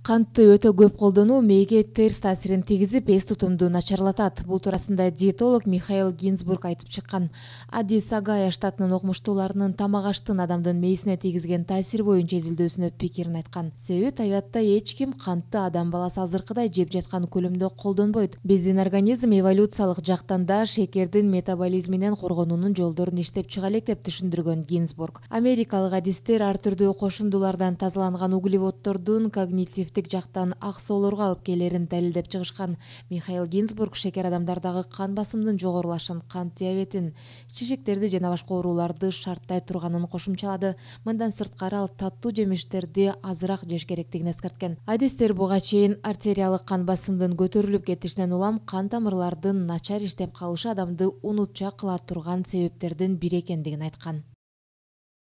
Кантты өтө көп колдонуу мээге терс таасирин тийгизип, эс тутумду начарлатат. Бул туурасында диетолог Михаил Гинзбург айтып чыккан. Адис Агая штатынын окумуштууларынын тамак аштын адамдын мээсине тийгизген таасири боюнча изилдөөсүнө пикирин айткан. Себеби табиатта эч ким кантты адам баласы азыркыдай жеп жаткан көлөмдө колдонбойт. Биздин организм эволюциялык жактан да шекердин метаболизминен коргонуунун жолдорун иштеп чыга элек деп түшүндүргөн Гинзбург. Америкалык адистер ар түрдүү кошундулардан тазаланган углеводдордун когнитивдик жактан ак соолорго алып келерин далилдеп чыгышкан. Михаил Гинзбург шекер адамдардагы кан басымдын жогорулашын, кант диабетин, шишиктерди жана башка ооруларды шарттай турганын кошумчалады. Мындан сырткары ал таттуу жемиштерди азыраак жеш керектигин эскерткен. Адистер буга чейин артериялык кан басымдын көтөрүлүп кетишинен улам кан тамырлардын начар иштеп калышы адамды унутчак кыла турган себептердин бири экендигин айткан.